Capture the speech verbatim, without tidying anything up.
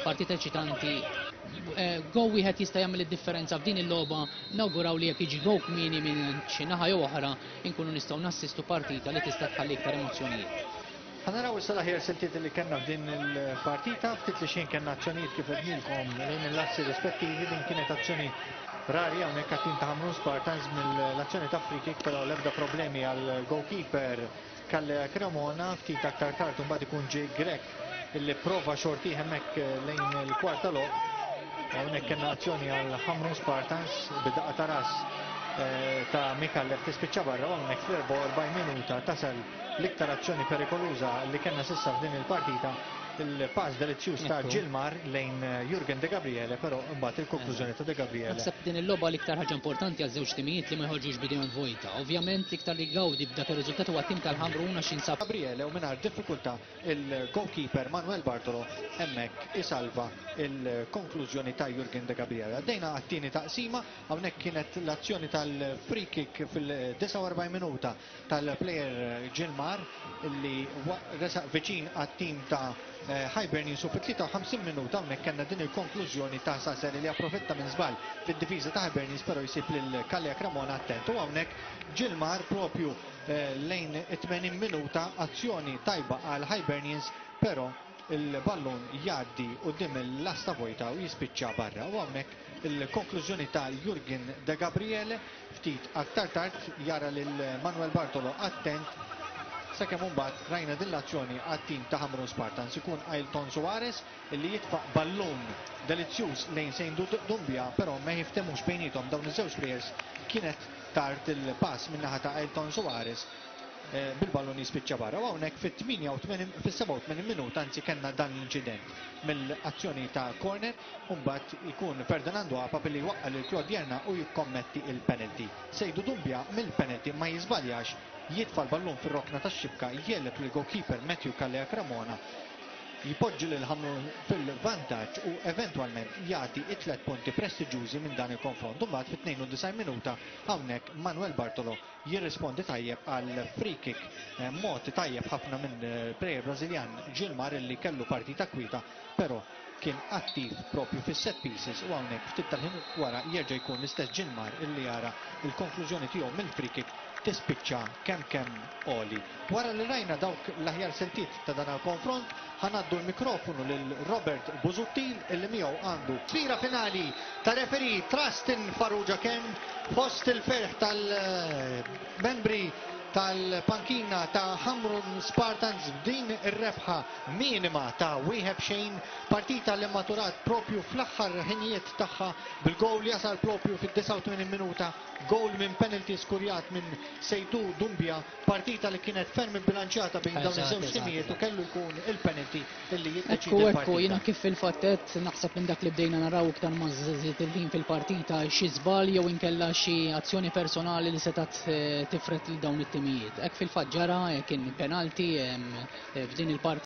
partita eċitanti. Gowl wieħed jista' jagħmel id-differenza f'din il-logħba. Nawguraw li jekk jiġi gowl kmieni minn xi naħa jew oħra, inkunu nistgħu nassistu partita li tista' tħalli iktar emozzjonijiet. Ħa naraw issa l-aħjar siltiet li kellna f'din il-partita. Ftit li xejn kellna azzjonijiet, kif għednilkom, lejn il-lasti rispettivi. Din kienet azzjoni rari hawnhekk għat-tim ta' Ħamrun Spartans mill-azzjoni ta' free kick, però l-ebda problemi għal goalkeeper Kalle Cremona. Ftit aktar tard mbagħad ikun Jake Grech illi prova xorti hemmhekk lejn il-kwarta logħob. Hawnhekk kellna azzjoni għal Ħamrun Spartans bid-daqqa ta' ras eh, ta' Mikallef tispiċċa barra, u hawnhekk fl-erbgħa u erbgħin minuta tasal l-iktar azzjoni perikoluża li kellna s'issa f'din il-partita, il-pass delizzjuż ta' Ekku. Gilmar lejn Jurgen De Gabriele, però mbagħad il-konklużjoni ta' De Gabriele. Naħseb din il-logħba l-iktar ħaġa importanti għal żewġ timijiet li ma jħorġux bidejhom vojta. Ovvjament l-iktar li gawdi b'dak ir-riżultat huwa tim tal-Ħamrun għax jinsab Gabriele, u mingħajr diffikultà il-goalkeeper Manuel Bartolo hemmhekk isalva il-konklużjoni ta' Jurgen De Gabriele. Għaddejna għat-tieni taqsima. Hawnhekk kienet l-azzjoni tal-free kick fil-disgħa u erbgħin minuta tal-player Gilmar li wa- resaq viċin għat-tim ta' eh, Hibernians, u fit-tlieta u ħamsin minuta hawnhekk kellna din il-konklużjoni ta' Sasser li approfitta minn żball fid-difiża ta' Hibernians, però jsib lil Kalja Cremona attent. U hawnhekk Gilmar propju eh, lejn it-tmenin minuta, azzjoni tajba għal Hibernians, però il-ballun jgħaddi quddiem il-lasta vojta u jispiċċa barra. U hawnhekk il-konklużjoni ta' Jurgen De Gabriele, ftit aktar tard jara lil Manuel Bartolo attent, sakemm imbagħad rajna din l-azzjoni għat-tim ta' Ħamrun Spartans, ikun Ailton Suarez illi jitfa' ballun delizzjuż lejn Sejndu Dumbia, però ma jiftemux bejnietom dawn iż-żewġ players, kienet tard il-pass min-naħa ta' Ailton Suarez eh, bil-ballun jispiċċa barra. U hawnhekk fit-tmienja u tmenin, fis-sebgħa u tmenin minuta anzi, kellna dan l-inċident mill-azzjoni ta' corner, u mbagħad ikun Ferdinando Apa billi waqqa lil Claude Jerna u jikkommetti il-penalty. Sejdu Dumbia mill-penalty ma jiżbaljax, jitfa' l-ballun fir-rokna tax-xibka, jegħleb lil goalkeeper Matthew Kalea Cremona, jpoġġi lil Ħamrun fil-vantaġġ u eventwalment jagħti it-tlet punti prestiġjużi minn dan il-konfront. Mbagħad fit-tnejn u disgħin minuta hawnhekk Manuel Bartolo jirrispondi tajjeb għal free kick eh, mod tajjeb ħafna minn eh, player Brażiljan Gilmar li kellu partita kwita, però kien attiv propju fis-set pieces, u hawnhekk ftit tal-ħin wara jerġa' jkun l-istess Gilmar illi jara il-konklużjoni tiegħu mill-free kick tispiċċa kemm kemm għoli. Wara li rajna dawk l-aħjar siltiet ta' dan il-konfront, ħa ngħaddu l-mikrofonu lil Robert Busuttil illi miegħu għandu sfira finali ta' referee Trustin Farrugia Ken, fost il-ferħ tal-membri tal-pankina ta' Ħamrun Spartans b'din ir-rebħa minima ta' wieħed xejn, partita li maturat propju fl-aħħar ħinijiet tagħha bil-gowl jasal propju fid-disgħa u tmenin minuta, gowl minn penalty skurjat minn Sejdu Dumbia, partita li kienet ferm bilanċjata bejn dawn Eżatt, iż-żewġ eżatt, timijiet u eżatt. kellu jkun il-penalty illi jiddeċidi Ekku, ekku, l-partita. Jiena kif fil-fatt naħseb minn dak li bdejna naraw iktar ma żied il-ħin fil-partita, xi żball jew inkella xi azzjoni personali li setat eh, tifret lil dawn it-timijiet. Hekk fil-fatt ġara, eh, kien penalti em, eh, f'din il-partita.